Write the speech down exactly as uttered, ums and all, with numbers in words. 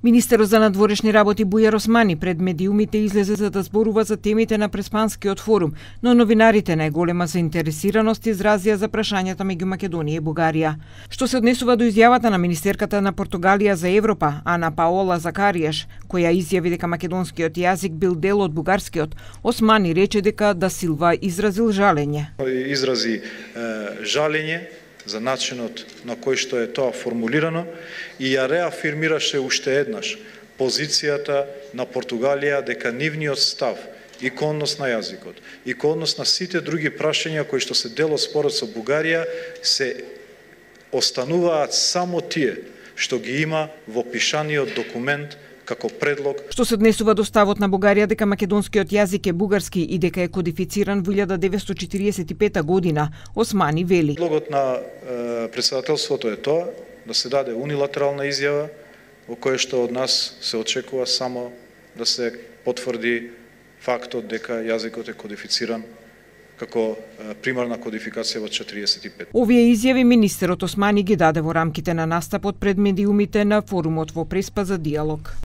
Министерот за надворешни работи Бујар Османи пред медиумите излезе за да зборува за темите на Преспанскиот форум, но новинарите најголема заинтересираност изразија за прашањата меѓу Македонија и Бугарија. Што се однесува до изјавата на министерката на Португалија за Европа, Ана Паола Закаријаш, која изјави дека македонскиот јазик бил дел од бугарскиот, Османи рече дека да Силва изразил жалење. Изрази е, жалење за начинот на кој што е тоа формулирано и ја реафирмираше уште еднаш позицијата на Португалија дека нивниот став и кон однос на јазикот и кон однос на сите други прашања кои што се дел од спорот со Бугарија се остануваат само тие што ги има во пишаниот документ како предлог. Што се однесува до ставот на Бугарија дека македонскиот јазик е бугарски и дека е кодифициран во илјада деветстотини четиридесет и пета година, Османи вели. Предлогот на е, председателството е тоа да се даде унилатерална изјава во која што од нас се очекува само да се потврди фактот дека јазикот е кодифициран како примарна кодификација во четиридесет и пет. Овие изјави министерот Османи ги даде во рамките на настапот пред медиумите на форумот во Преспа за диалог.